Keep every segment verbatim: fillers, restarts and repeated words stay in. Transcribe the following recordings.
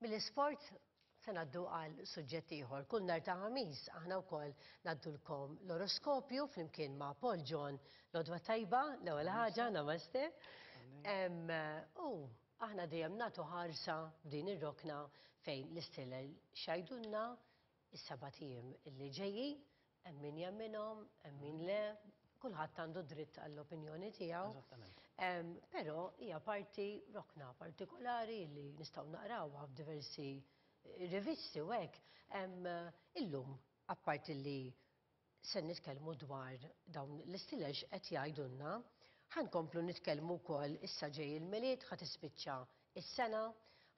Mill-isport se ngħaddu għal suġġett ieħor. Kull nhar ta' Ħamis aħna wkoll ngħaddulkom l-oroskopju flimkien ma' Paul John. L-għodwa t-tajba, l-ewwel ħaġa, namaste. U aħna dejjem nagħtu ħarsa f'din ir-rokna fejn l-istilel x'jgħidulna is-sebat ijiem illi ġejjin, hemm min jemminhom, hemm min le, kulħadd għandu dritt għall-opinjoni tiegħu. Però hija parti rokna partikolari li nistgħu naqrawha f'diversi rivisti u hekk. Illum, apparti li se nitkellmu dwar dawn l-istilel x'qed jgħidulna, ħa nkomplu nitkellmu wkoll issa ġej il-Milied, ħa tispiċċa is-sena,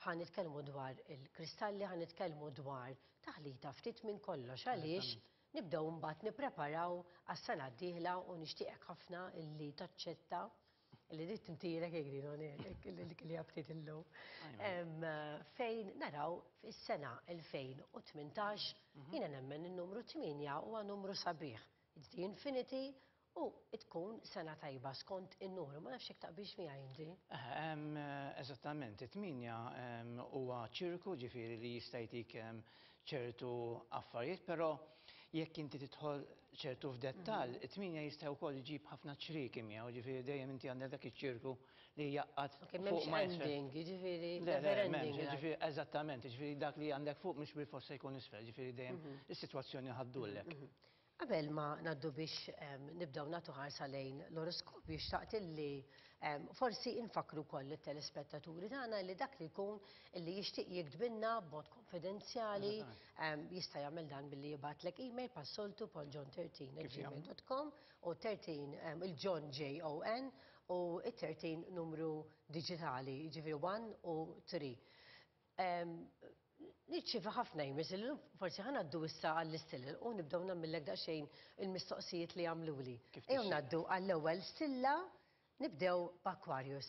ħa nitkellmu dwar il-kristalli, ħa nitkellmu dwar taħlita ftit minn kollox għaliex nibdew mbagħad nippreparaw għas-sena d-dieħla u nixtieqek ħafna illi taċċetta illi dit tintirek jgħidin li għabtit illum. Fejn naraw fis-sena elfejn u tmintax, jiena nemmen il-numru tmienja huwa numru sabiħ. It's the infinity u tkun sena tajba skont in-numru. Ma nafx jekk taqbilx miegħi inti. Eżattament, it-tmienja huwa ċirku, ġifieri li jista' jtik ċertu affarijiet, però jekk inti tidħol ċertu f'dettall, it-tmienja jista' wkoll iġib ħafna ċrieki miegħu, ġifieri dejjem inti għandek dak iċ-ċirku li jaqgħad fuq ma ending, ġifieri. Le, ġifieri eżattament, ġifieri dak li għandek fuq mhux bil-forsa jkun isfel, ġifieri dejjem is-sitwazzjoni ħa ddullek. Qabel ma ngħaddu biex nibdew nagħtu ħarsa lejn l-oroskopju, xtaqt illi forsi infakru koll it-telespettaturi tagħna li dak li jkun illi jixtieq jiktbilna b'mod konfidenzjali jista' jagħmel dan billi jibgħatlek email bħas-soltu pauljohn tlettax at gmail dot com u tlettax il-John J O N u it-tlettax numru digitali, ġifieri wieħed u tlieta. Nirċievi ħafna emails, illum forsi ħa ngħaddu issa għall-istilel u nibdew nagħmillek daqsxejn il-mistoqsijiet li għamluli. Kif Ejjew tixtieq. Ngħaddu għall-ewwel stilla, nibdew b'Aquarius.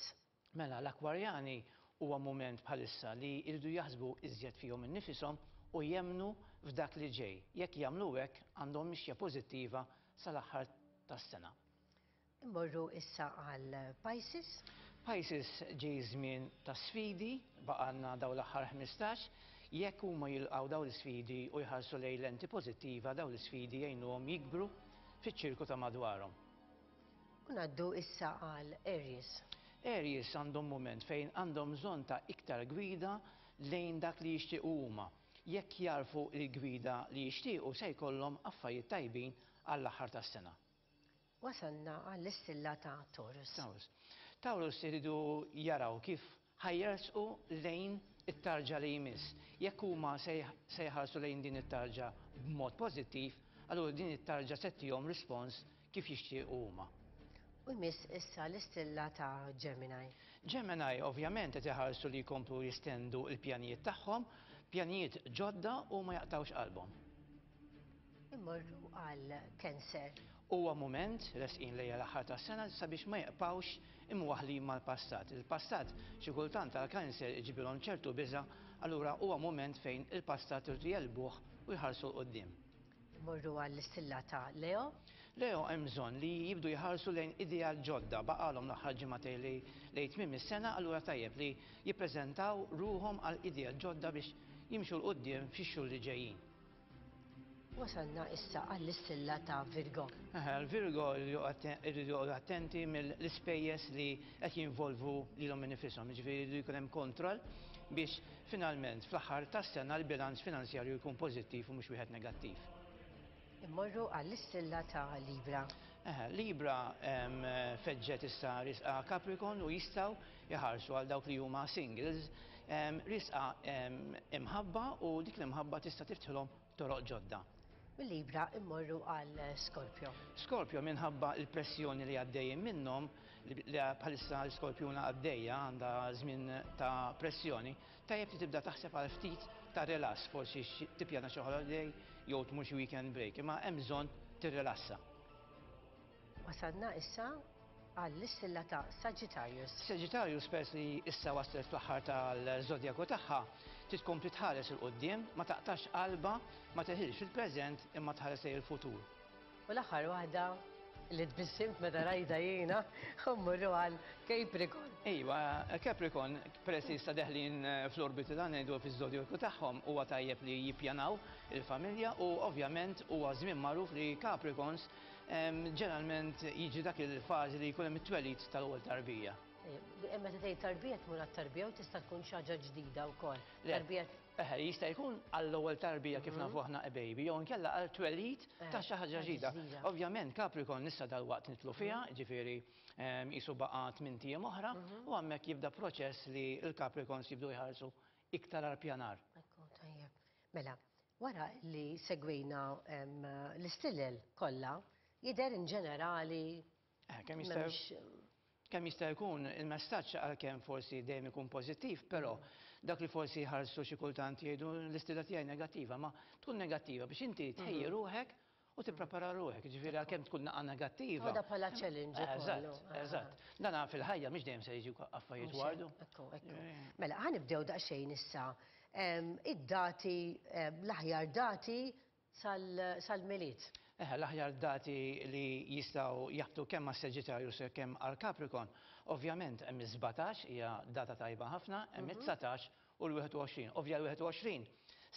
Mela, l-Akwarjani huwa moment bħalissa li jridu jaħsbu iżjed fihom innifisom u jemnu f'dak li ġej. Jekk jagħmlu hekk, għandhom mixja pożittiva sal-aħħar tas-sena. Immorru issa għal Pisces. Pisces, ġej żmien ta' sfidi, baqgħalna daw l-aħħar ħmistax, jekk huma jilqgħu daw l-sfidi u jħarsu lejn lenti pożittiva, daw l-sfidi jgħinuhom jikbru fiċ-ċirku ta' madwarhom. U ngħaddu issa għal Aries. Aries għandhom moment fejn għandhom bżonn ta' iktar gwida lejn dak li jixtiequ huma. Jekk jarfu il-gwida li jixtiequ, se jkollhom affarijiet tajbin għall-aħħar tas-sena. Wasalna għall-istilla ta' Taurus. Taurus. Taurus iridu jaraw kif ħa jersqu lejn it-tarġa li jmiss. Jekk huma se se jħarsu lejn din it-tarġa b'mod pożittiv, allura din it-tarġa se ttihom rispons kif jixtiequ huma. U jmiss issa l-istilla ta' Gemini. Gemini ovvjament qed iħarsu li jkomplu jistendu l-pjanijiet tagħhom, pjanijiet ġodda, u ma jaqtawx qalbhom. Immorru għal Cancer. Huwa moment resqin lejja l-aħħar tas-sena sabiex ma jibqgħux imwaħlin mal-passat. Il-passat xi kultant għal Cancer iġibilhom ċertu biża', allura huwa moment fejn il-passat irdu jegħlbuh u jħarsu 'l quddiem. Immorru għall-istilla ta' Leo. Leo hemm bżonn li jibdu jħarsu lejn ideat ġodda, baqalhom l-aħħar ġimagħtejn li lejn tmiem is-sena, allura tajjeb li jippreżentaw ruhom għal ideat ġodda biex jimxu 'l quddiem fix-xhur li ġejjin. Wasalna issa għall-istilla ta' Virgo. L-Virgo irridu joqogħdu attenti mill-ispejjeż li qed jinvolvu lilhom innifisom, jiġifieri jridu jkun hemm kontroll biex finalment fl-aħħar tas-sena l-bilanċ finanzjarju jkun pożittiv u mhux wieħed negattiv. Immorru għall-istilla ta' Libra. Eh, Libra em, feġġet issa risqa Capricorn u jistgħu jħarsu għal dawk li huma singles em, risqa em, imħabba u dik l-imħabba tista' tiftħilhom toroq ġodda. Mill-Libra immorru għal Scorpio. Scorpio, minħabba il-pressjoni li għaddejjin minnhom, li li bħalissa l-Skorpjuna għaddejja għandha żmien ta' pressjoni, tajjeb li tibda taħseb għal ftit ta' relax, forsi xi- tippjana xi holiday jew tmur xi weekend break, imma hemm bżonn tirrilassa. Wasalna issa għall-istilla ta' Sagittarius. Sagittarius, pers li issa waslet fl-aħħar tal-żodjaku tagħha, titkompli tħares 'il quddiem, ma taqtax qalba, ma teħilx fil-preżent imma tħares lejn il-futur. U l-aħħar waħda, li tbissimt meta rajda jiena, mmorru għal Capricorn. Iva, Capricorn, peress li issa deħlin fl-orbiti ta' ngħidu fiż-żodjaku tagħhom, huwa tajjeb li jippjanaw il-familja u ovvjament huwa żmien magħruf li Capricorns ġeneralment jiġi dak il-fażi li jkun hemm it-twelid tal-ewwel tarbija. Meta tgħid tarbija tmur għat-tarbija u tista' tkun xi ħaġa ġdida wkoll. Tarbija Eħe, jista' jkun għall-ewwel tarbija kif nafu aħna a baby, jew inkella għal twelid ta' xi ħaġa ġdida. Ovvjament Capricorn issa dalwaqt nidħlu fiha, ġifieri qisu baqa' tmint ijiem oħra, u hemmhekk jibda proċess li l-Capricorns jibdu jħarsu iktar għal pjanar. Ekku, tajjeb. Mela, wara li segwejna l-istilel kollha, jidher in ġenerali kemm jista' kemm jista' jkun il-messaġġ għalkemm forsi dejjem ikun pożittiv, però dak li forsi jħarsu xi kultant jgħidu l-istilla tiegħi negattiva, ma tkun negattiva biex inti tħejji ruħek u tipprepara ruħek, ġifieri għalkemm tkun naqa' negattiva. Għada bħala challenge. Eżatt, eżatt. Dana fil-ħajja mhix dejjem se jiġu affarijiet wardu. Ekku, ekku. Mela, ħa nibdew daqsxejn issa. Id-dati, l-aħjar dati sal-Milied. Eħe, l-aħjar dati li jistgħu jaħbtu kemm għas Sagittarius kemm għal Capricorn. Ovvjament hemm is-sbatax hija data tajba ħafna, hemm it-dsatax u l-wieħed u għoxrin. Ovvja l-wieħed u għoxrin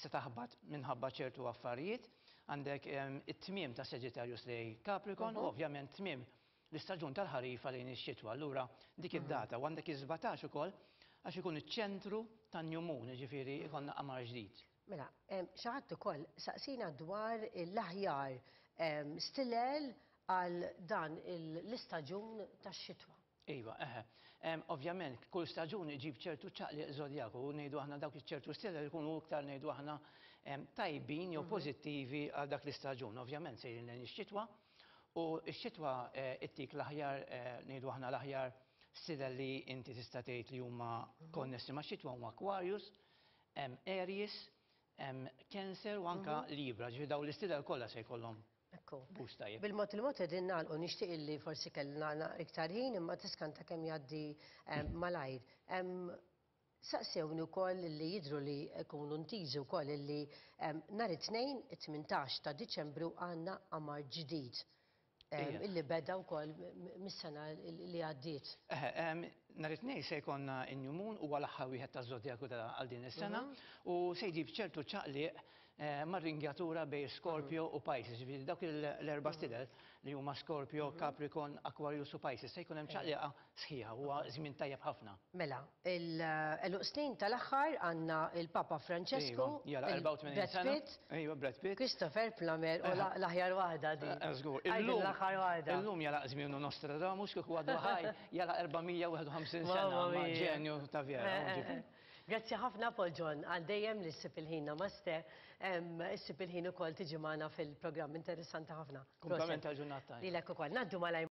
se taħbat minħabba ċertu affarijiet, għandek it-tmiem ta' Sagittarius lej Capricorn u ovvjament tmiem l-istaġun tal-ħarifa lejn ix-xitwa. Allura dik id-data u għandek is-sbatax ukoll għax ikun iċ-ċentru tan-New Moon, jiġifieri ikollna qamar ġdid. Mela, xi ħadd ukoll saqsina dwar l-aħjar stilel għal dan l-istaġun tax-xitwa. Iva, eħe. Ovvjament, kull staġun iġib ċertu ċaqliq żodjaku, u ngħidu aħna dawk iċ-ċertu stilel ikunu iktar ngħidu aħna tajbin jew pożittivi għal dak l-istaġun. Ovvjament sejrin lejn ix-xitwa, u x-xitwa ittik l-aħjar, ngħidu aħna l-aħjar stilel li inti tista' tgħid li huma konnessi max-xitwa huma Aquarius, Aries, Cancer u anka Libra, ġifieri dawn l-istilel kollha se jkollhom boost tajjeb. Bil-mod il-mod qegħdin nagħlqu, nixtieq illi forsi kellna iktar ħin imma tiskanta kemm jgħaddi malajr. Saqsewni wkoll li jidhru li jkunu ntiżi wkoll illi nhar it-tnejn it-tmintax ta' Diċembru għandna qamar ġdid. Illi beda wkoll mis-sena li għaddiet. Eħe, nhar it-tnejn se jkollna n-New Moon huwa l-aħħar wieħed taż-żodjaku għal din is-sena u se jġib ċertu ċaqliq mar-ringjatura bejn Scorpio u Pisces, ġifieri dawk l-erba' stilel li huma Scorpio, Capricorn, Aquarius u Pisces se jkun hemm ċaqliqa sħiħa, huwa żmien tajjeb ħafna. Mela, il-għeluq snin tal-aħħar għandna il-Papa Francesco, Brad Pitt, Iva, Brad Pitt, Christopher Plummer u l-aħjar waħda din. Żgur, l-aħħar waħda. Illum jala żmienu Nostradamus kieku għadu ħaj jala erba' mija u wieħed u ħamsin sena ma' ġenju ta' vera. Grazzi ħafna Paul John, għal dejjem li ssib il-ħin, namaste, ssib il-ħin ukoll tiġi magħna fil-programm, interessanti ħafna. Kumplament tal-ġurnata. Lilek ukoll. Ngħaddu malajr.